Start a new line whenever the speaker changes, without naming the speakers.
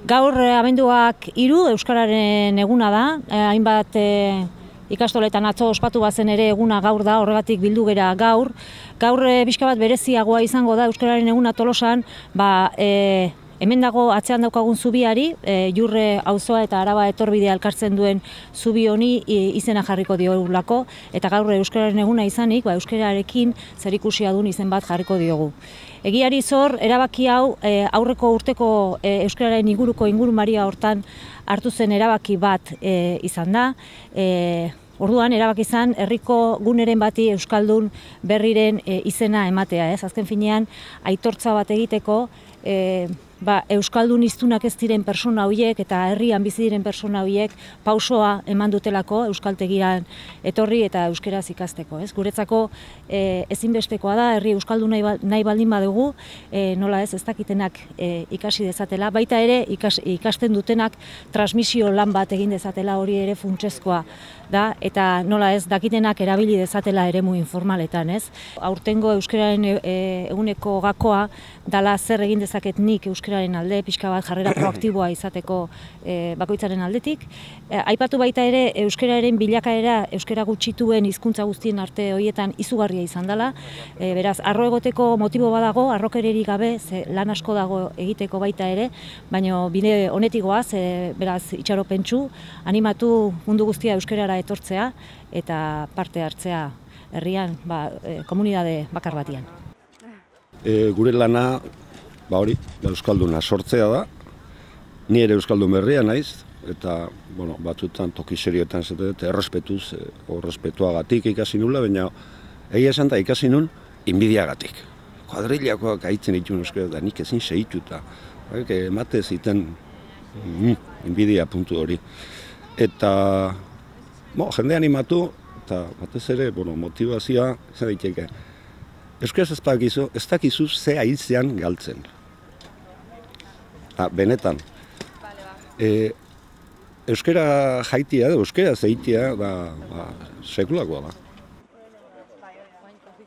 Gaur abenduak 3 Euskararen eguna da, hainbat ikastoletan atzo ospatu bazen ere eguna gaur da, horregatik bildu gera gaur. Gaur pixka bat bereziagoa izango da Euskararen eguna Tolosan, hemen dago atzean daukagun zubiari, Jurre auzoa eta Araba etorbidea elkartzen duen zubi honi izena jarriko diogulako, eta gaur Euskararen eguna izanik, euskararekin zerikusia duen izen bat jarriko diogu. Egiari zor, erabaki hau aurreko urteko euskararen inguruko ingurumaria hortan hartu zen erabaki bat izan da. Orduan, erabaki izan, herriko guneren bati euskaldun berriren izena ematea. Azken finean, aitortza bat egiteko, euskaldun hiztunak ez diren persona horiek eta herrian bizi diren persona horiek pausoa eman dutelako euskaltegian etorri eta euskeraz ikasteko. Guretzako ezinbestekoa da, herri euskaldun nahi baldin badugu, nola ez dakitenak ikasi dezatela, baita ere ikasten dutenak transmisio lan bat egin dezatela, hori ere funtsezkoa da, eta nola ez dakitenak erabili dezatela eremu informaletan. Aurtengo euskararen eguneko gakoa dala zer egin dezaket nik euskararen alde, pixka bat jarrera proaktiboa izateko bakoitzaren aldetik. Aipatu baita ere euskararen bilakaera euskara gutxituen hizkuntza guztien arte horietan izugarria izan dela. Beraz, harro egoteko motibo badago, harrokererik gabe, lan asko dago egiteko baita ere, baina bide honetik goaz, beraz, itxaropentsu, animatu mundu guztia euskarara etortzea eta parte hartzea herrian, komunitate bakar batian.
Gure lana, euskalduna sortzea da, ni ere euskaldun berria naiz, eta batzutan toki serioetan errespetuz, errespetuagatik ikasi nula, baina egia esan da ikasi nun inbidiagatik. Kuadrilakoak aitzen dituen euskara da nik ezin segituta, emate ziten inbidia puntu hori. Eta jende animatu, eta batez ere motivazioa izan daiteke. Euskaraz ez dakizu ze haitzean galtzen. Benetan. Euskara jaitia, euskara zeitia, sekulakoa da.